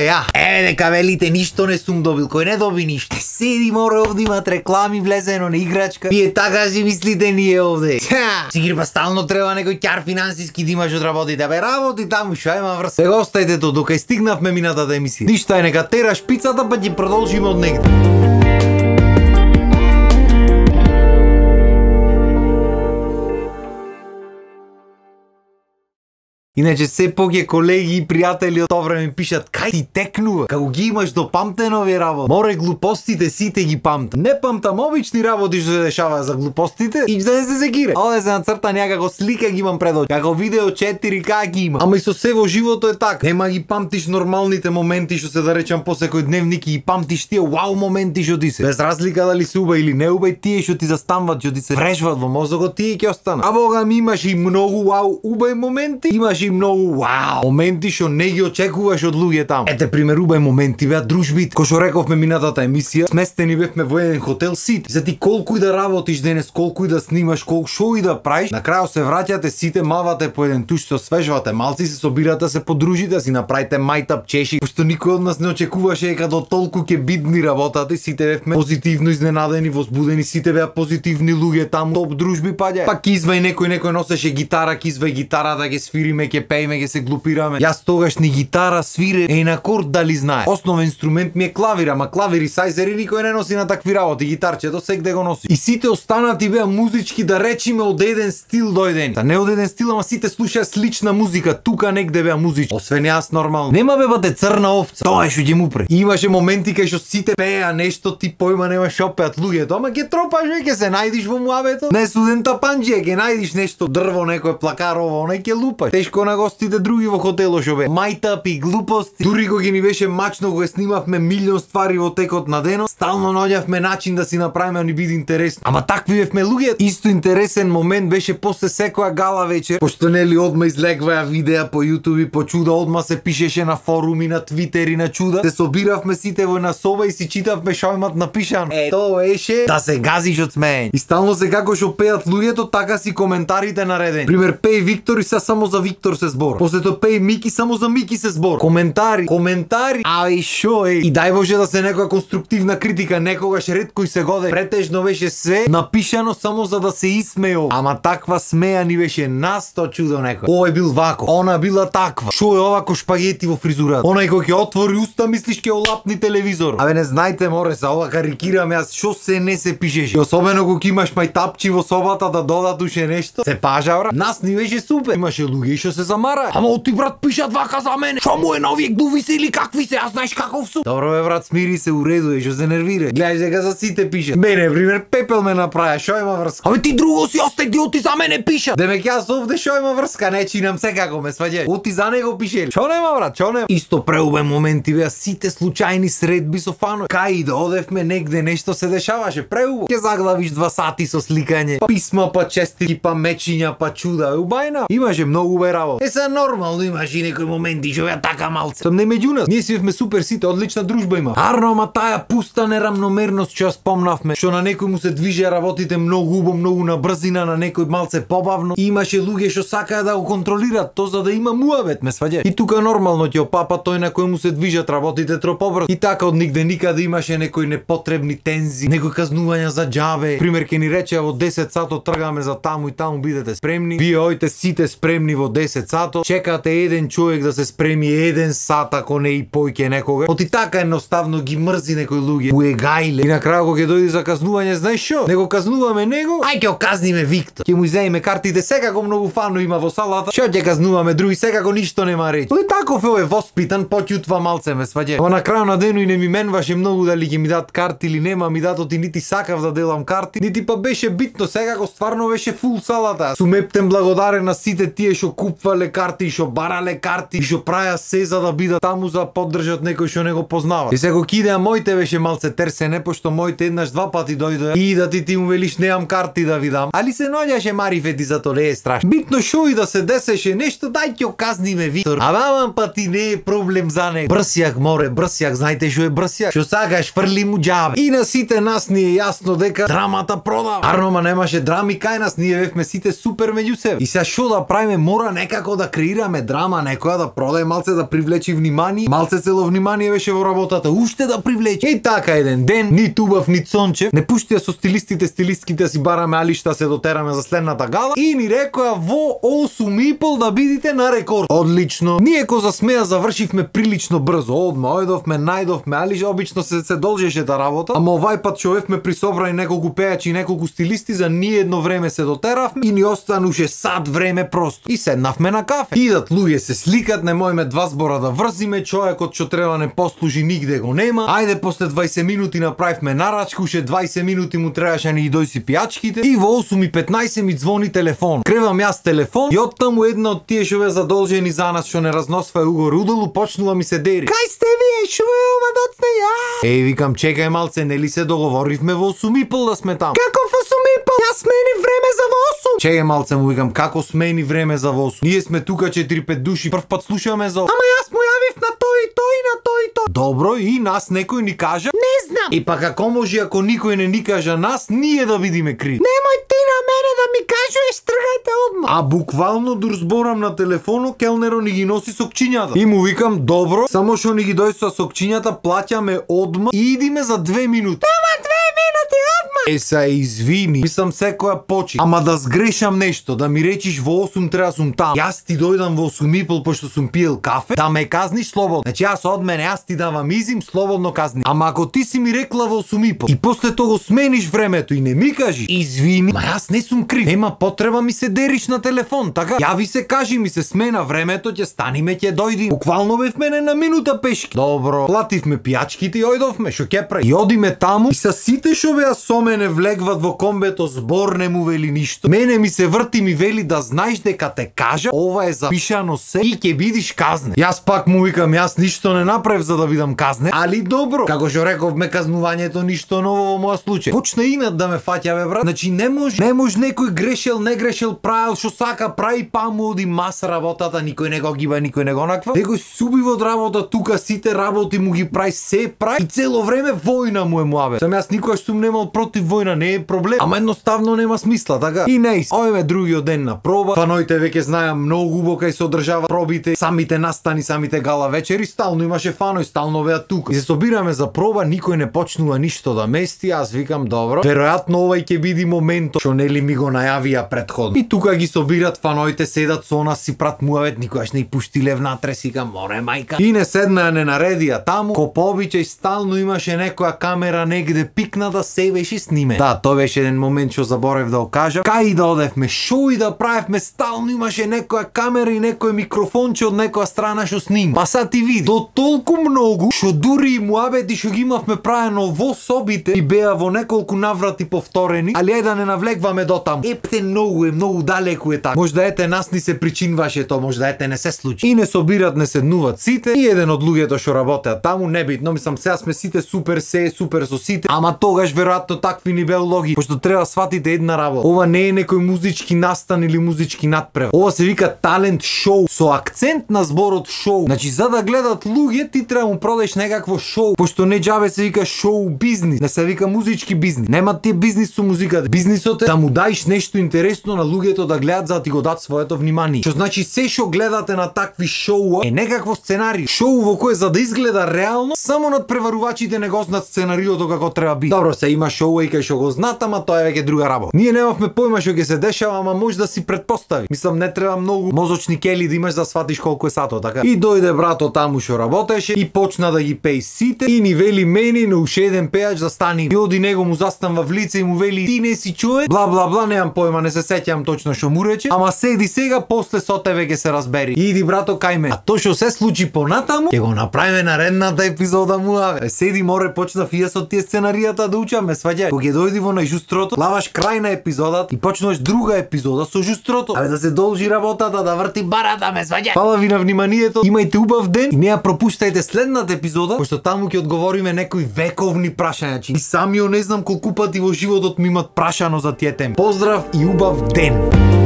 ја. Дека велите ништо не сум добил, кој не доби ништо. Седи море овде имат реклами влезено на играчка. Вие така си мислите ние овде. Си ги стално треба некој ќар финансиски да имаш од работите. Бе работи таму шо има врз. Сега остајте то дока стигнавме минатата емисија. Ништа е нека тераш пицата па ќе продолжиме од негде. Иначе се поќе колеги и пријатели од тоа време ми пишат кај ти текнува, како ги имаш допамтено овие работи. Море глупостите сите ги памтам. Не памтам обични работи што се дешаваат за глупостите и да не се секире. Овде се нацрта някако слика ги имам пред очи. Како видео 4К ги има. Ама и со се во живото е така. Нема ги памтиш нормалните моменти што се да речам по секој дневник и памтиш тие вау моменти што ти се. Без разлика дали се уба или не уба, тие што ти застанват, што ти се врежват во мозокот, тие ќе останат. А бога ми имаш и многу вау убави моменти, имаш и многу вау моменти што не ги очекуваш од луѓе таму. Ете пример убави моменти беа дружбите. Кој што рековме минатата емисија, сместени бевме во еден хотел Сити. За ти колку и да работиш денес, колку и да снимаш, колку шо и да правиш, на крајот се враќате сите, мавате по еден туш, се освежвате малци, се собирате, се подружите, си направите мајтап чеши, пошто никој од нас не очекуваше дека до толку ќе бидни работата и сите бевме позитивно изненадени, возбудени, сите беа позитивни луѓе таму, топ дружби паѓа. Пак извај некој носеше гитара, извај гитарата, ќе свириме, ќе пееме, ќе се глупираме. Јас тогаш ни гитара свире и на акорд дали знае. Основен инструмент ми е клавир, ама клавири сајзери никој не носи на такви работи, гитарчето секде го носи. И сите останати беа музички да речиме од еден стил дојдени. Та не од еден стил, ама сите слушаа слична музика, тука негде беа музички. Освен јас нормално. Нема бе бате црна овца. Тоа е што ќе му пре. Имаше моменти кај што сите пеа нешто, ти појма немаш што пеат луѓето, ама ќе тропаш веќе се најдиш во муабето. Не студента панџија, ќе најдиш нешто дрво, некој плакарово, онај ќе лупаш. Тешко на гостите други во хотело шо бе. Мајтапи, глупости. Дури кога ги ни беше мачно, кога снимавме милион ствари во текот на денот, стално наоѓавме начин да си направиме ни биде интересно. Ама такви бевме луѓе. Исто интересен момент беше после секоја гала вечер, пошто нели одма излегваа видеа по YouTube и по чуда, одма се пишеше на форуми, на Твитер и на чуда. Се собиравме сите во една соба и си читавме шо имат напишано. Тоа беше да се газиш од смеење. И стално се како што пеат луѓето, така си коментарите наредени. Пример пеј Виктор и се само за Виктор се збор. После тоа пеј Мики, само за Мики се збор. Коментари. Ај шо е. И дај Боже да се некоја конструктивна критика, некогаш ретко и се годе. Претежно беше све напишано само за да се исмејо. Ама таква смеја ни беше насто чудо некој. Ој бил вако, она била таква. Шо е ова ко шпагети во фризурата? Онај кој ќе отвори уста мислиш ќе олапни телевизор. Абе не знаете море за ова карикирам јас шо се не се пишеше. И особено кога имаш мајтапчи во собата да додат уште нешто. Се пажа бра. Нас ни беше супер. Имаше луѓе што се замара. Ама оти брат пишат вака за мене. Шо му е на овие глуви се или какви се? Јас знаеш каков сум. Добро бе брат, смири се, уреду е, што се нервира. Гледај дека за сите пишат. Мене пример Пепел ме направи, шо има врска? Абе ти друго си остај, ти оти за мене пишат. Демек јас овде шо има врска, не чинам секако ме сваѓаш. Оти за него пишели. Шо нема брат, шо нема? Исто преубави моменти беа сите случајни средби со фанови. Кај и да одевме негде нешто се дешаваше, преубаво. Ќе заглавиш 2 сати со сликање, па писма, па честитки, па мечиња, па чуда. Убајна. Имаше многу убави работа. Се нормално имаше и некои моменти што беа така малце. Сам не меѓу нас. Ние си бевме супер сите, одлична дружба има. Арно, ама таа пуста нерамномерност што ја спомнавме, што на некој му се движеа работите многу убаво, многу на брзина, на некој малце побавно. И имаше луѓе што сакаа да го контролираат то за да има муабет, ме сваѓа. И тука нормално ќе опапа тој на кој му се движат работите троп побрзо. И така од нигде никаде имаше некои непотребни тензи, некои казнувања за џабе. Пример ќе ни речеа во 10 сато тргаме за таму и таму, бидете спремни. Вие ојте сите спремни во 10 сато. Чекате еден човек да се спреми 1 сат, ако не и појќе некога. Оти така едноставно ги мрзи некои луѓе. Уегајле. И на крај кога ќе дојде за казнување, знаеш шо? Не го казнуваме него, ај ќе го казниме Виктор. Ќе му изееме картите, секако многу фано има во салата. Шо ќе казнуваме други, секако ништо нема реч. Тој таков е воспитан, поќутва малце ме сваѓа. Ама на крај на денот и не ми менваше многу дали ќе ми дат карти или нема, ми дато ти нити сакав да делам карти, нити па беше битно, секако стварно беше фул салата. Сум ептен благодарен на сите тие што купвале карти, што барале карти, што праја се за да бидат таму за поддржат некој што не го познава. И сега кидеа моите беше малце терсене, пошто моите еднаш 2 пати дојдоа и да ти му велиш неам карти да ви дам. Али се наоѓаше марифети за тоа, не е страшно. Битно шо и да се десеше нешто, дај ќе казниме Виктор. Ама пати не е проблем за него. Брсјак море, брсјак, знаете што е брсјак? Што сакаш фрли му џабе. И на сите нас ни е јасно дека драмата продава. Арно ма немаше драми кај нас, ние бевме сите супер меѓу себе. И сега шо да правиме, мора некако некако да креираме драма, некоја да продаде малце да привлечи внимание. Малце цело внимание беше во работата, уште да привлечи. И така еден ден, ни Тубав, ни Цончев, не пуштија со стилистките си бараме алишта се дотераме за следната гала и ни рекоа во 8:30 да бидите на рекорд. Одлично. Ние ко засмеа завршивме прилично брзо. Одма ојдовме, најдовме алиш, обично се должеше да работа, ама овај пат човевме присобрани неколку пејачи и неколку стилисти, за ние едно време се дотеравме и ни остануше сат време просто. И седнавме на кафе. Идат луѓе се сликат, немојме два збора да врзиме, човекот што треба не послужи нигде го нема. Ајде после 20 минути направивме нарачка, уште 20 минути му требаше ни дојси пијачките и во 8:15 ми звони телефон. Кревам јас телефон и оттаму една од тие што бе задолжени за нас што не разносва угоре удолу почнува ми се дери. Кај сте вие, шо е ова доцне ја? Викам, чекај малце, нели се договоривме во 8:30 да сме таму. Како во 8:30? Јас смени време за во 8. Чекај малце, му викам, како смени време за во 8? Ние сме тука 4-5 души, прв пат слушаме за. Ама јас му јавив на тој и тој и на тој и тој. Добро, и нас некој ни кажа? Не знам. И па како може ако никој не ни кажа нас, ние да бидиме криви? Немој ти на мене да ми кажеш, тргајте одма. А буквално дур зборам на телефоно, келнеро ни ги носи сокчињата. И му викам, добро, само што ни ги дојде со сокчињата, плаќаме одма и идиме за 2 минути. Ама 2 минути одма. Се извини, мислам секоја почи. Ама да сгрешам нешто, да ми речиш во 8 треба сум таму. Јас ти дојдам во 8:30 пошто сум пиел кафе, да ме казниш слободно. Значи јас од мене, јас ти давам изим, слободно казни. Ама ако ти си ми рекла во 8:30 и после тоа смениш времето и не ми кажеш, извини, ма јас не сум крив. Нема потреба ми се дериш на телефон, така? Јави се, кажи ми се смена времето, ќе станиме, ќе дојди. Буквално бев мене на минута пешки. Добро, плативме пијачките и ојдовме, шо ќе прави? И одиме таму и са сите што беа со мене влегват во комбето, збор не му вели ништо. Мене ми се врти, ми вели да знаеш дека те кажа, ова е запишано се и ќе бидиш казнен. Јас пак му викам, јас ништо не направив за да бидам казнен, али добро. Како што рековме, казнувањето ништо ново во мојот случај. Почна инат да ме фаќа, бе брат. Значи не може некој грешел, не грешел, правил што сака, прави, па му оди мас работата, никој не го гиба, никој не го наква. Некој субиво од работа тука, сите работи му ги прави, се прави и цело време војна му е муабет. Сам јас никогаш сум немал против војна, не е проблем, ама едноставно нема смисла, така? И неис. Овој другиот ден на проба. Фаноите веќе знаеа многу убаво кај се одржава пробите, самите настани, самите гала вечери, стално имаше фанои, стално беа тука. И се собираме за проба, никој не почнува ништо да мести, аз викам добро. Веројатно овај ќе биде моментот што нели ми го најавија претходно. И тука ги собират фаноите, седат со нас, си прат муавет, никогаш не пушти лев натре, си кам, море мајка. И не седнаа, не наредија таму, ко по обичај стално имаше некоја камера негде пикна да се беше сниме. Да, тоа беше еден момент што заборев да го кажам. Кај да одевме, шо и да правевме, стално имаше некоја камера и некој микрофонче од некоја страна што снима. Па са ти види, до толку многу што дури и муабети што ги имавме правено во собите и беа во неколку наврати повторени, али ајде да не навлегваме до таму. Епте многу далеку е така. Можда ете нас ни се причинваше тоа, можда ете не се случи. И не собират, не седнуват сите и еден од луѓето што работеа таму, небитно, мислам сега сме сите супер со сите, ама тогаш веројатно такви ни беа логи, пошто треба сватите една работа. Ова не е некој музички настан или музички надпревар. Ова се вика талент шоу со акцент на зборот шоу. Значи за да гледат луѓе ти треба му продадеш некакво шоу, пошто не џабе се вика шоу бизнис, не се вика музички бизнис. Нема ти бизнис со музиката. Бизнисот е да му даеш нешто интересно на луѓето да гледат за да ти го дадат своето внимание. Што значи се што гледате на такви шоуа е некакво сценарио. Шоу во кое за да изгледа реално, само надпреварувачите не го знаат сценариото како треба би. Добро, се има шоу и кај што го знаат, ама тоа е веќе друга работа. Ние немавме појма што ќе се дешава, ама може да си предпостави. Мислам не треба многу мозочни кели да имаш да сватиш колку е сато, така. И дојде брато таму што работеше и почна да ги пеи сите и ни вели мене на уште еден пејач да стани. И оди него му застанва в лице и му вели ти не си човек, бла бла бла, немам појма, не се сеќам точно што му рече, ама седи сега, после со тебе ќе се разбери. И иди брато кај мене. А тоа што се случи понатаму, ќе го направиме наредната епизода муаве. Седи море почнав и јас од тие сценаријата да учам, ме сваѓај. Кога ќе дојди во најжустрото, лаваш крај на епизодата и почнуваш друга епизода со жустрото. Абе да се должи работата, да врти барата, ме сваѓај. Фала ви на вниманието. Имајте убав ден и не ја пропуштајте следната епизода, пошто таму ќе одговориме некои вековни прашања. И самиот не знам колку пати во животот ми имат прашано за тие теми. Поздрав и убав ден.